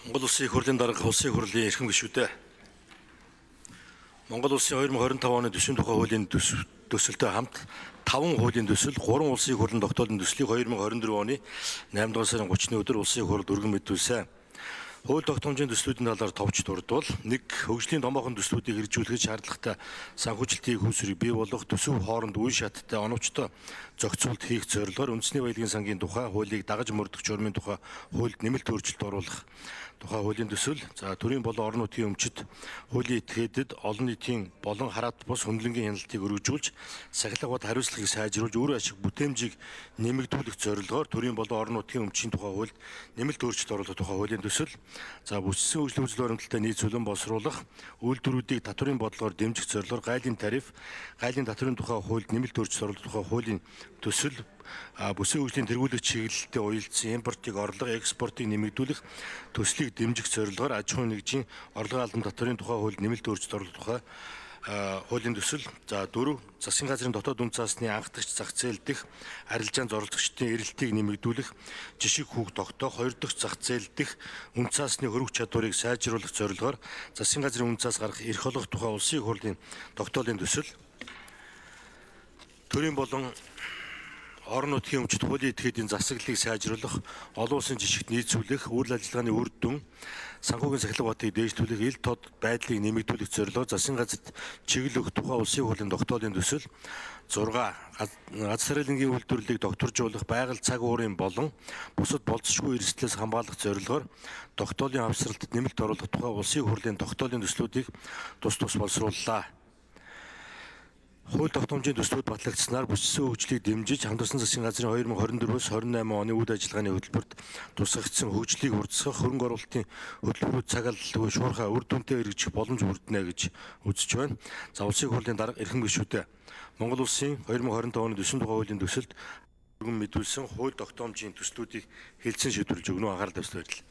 Монгол Улсын их хурлын дарга улсын хурлын эрхэм гишүүдээ Монгол Улсын 2025 оны төсвийн тухай хуулийн төсөлтэй хамт 5 хуулийн төсөл, 3 улсын их хурлын тогтоолын төслийг 2024 оны 8 дугаар сарын 30-ны өдөр улсын их хурл өргөн мэдүүлсэн. Хууль тогтоомжийн төслүүдийн талаар товч дурдвал 1. Хөгжлийн томоохон төслүүдийг хэрэгжүүлэхэд шаардлагатай санхүүжилтийн хүйсвэрийг бий болгох, төсөв хооронд үе шаттай оновчтой зохицуулт хийх зорилгоор үндэсний баялагын сангийн тухай хуулийг дагаж мөрдөх журмын тухай хуульд нэмэлт өөрчлөлт оруулах тухай хуулийн төсөл, төрийн болон орон нутгийн өмчит хуулийн этгээдэд олон нийтийн болон хараат бус хөндлөнгийн хяналтыг өргөжүүлж, сахилга бод хариуцлагыг сайжруулж, үр ашиг бүтээмжийг нэмэгдүүлэх зорилгоор төрийн болон орон нутгийн өмчийн тухай хуульд нэмэлт өөрчлөлт оруулах тухай хуулийн төсөл, бүссэн үйлчлэл үзэл баримталтай нийт цөлөн боловсруулах, үйлдвэрүүдийг татврын бодлогоор дэмжих зорилгоор гайлын тариф, гайлын татврын тухай хуульд нэмэлт өөрчлөлт оруулах тухай хуулийн төсөл, бүсийн хөгжлийн тэргүүлэх чиглэлтэй уялдсан импортыг орлого, экспортыг нэмэгдүүлэх төслийг дэмжих зорилгоор аж ахуйн нэгжийн орлогын албан татврын тухай хуульд нэмэлт өөрчлөлт оруулах тухай хуулийн төсөл, 4. Засгийн газрын дотоод үн цасны анхдагч зах зээл дэх арилжаан зорилгочдын эрэлтийг нэмэгдүүлэх, жишг хүүг тогтоох, 2 дахь зах зээл дэх үн цасны хөрвөх чадварыг сайжруулах зорилгоор засгийн газрын үн цас гаргах эрх олгох тухай улсын их хурлын тогтоолын төсөл, төрийн болон орон нутгийн өмчит хуулийн этгээдийн засаглалыг сайжруулах, олон улсын жишгт нийцүүлэх, үйл ажиллагааны үр дүн, санхүүгийн сахилга батыг дээшлүүлэх, ил тод байдлыг нэмэгдүүлэх зорилгоор засгийн газарт чиглэл өгөх тухай улсын хурлын тогтоолын төсөл, 6. Газар тариалангийн үйлдвэрлэлийг докторжуулах, байгаль цаг уурын болон бусад болцсошгүй эрсдлээс хамгаалах зорилгоор тогтоолын авсралт нэмэлт оруулах тухай улсын хурлын тогтоолын төслүүдийг тус боловсрууллаа. Хууль тогтоомжийн төслүүд батлагдсанаар бүссэн хөгжлийг дэмжиж, хамтарсан засгийн газрын 2024-өөс 28 оны үйл ажиллагааны хөтөлбөрт тусгагдсан хөгжлийг урьдчилах, хөрөнгө оруулалтын хөтөлбөрүүд цаг алдалгүй шуурхай үр дүнтэй хэрэгжих боломж бүрдэнэ гэж үзэж байна. Улсын их хурлын дарга эрхэм гишүүдээ Монгол Улсын 2025 оны төсвийн тухай хуулийн төсөлд өргөн мэдүүлсэн хууль тогтоомжийн төслүүдийг хэлцэн шийдвэрлэж өгнө. Анхаарал тавьсан баярлалаа.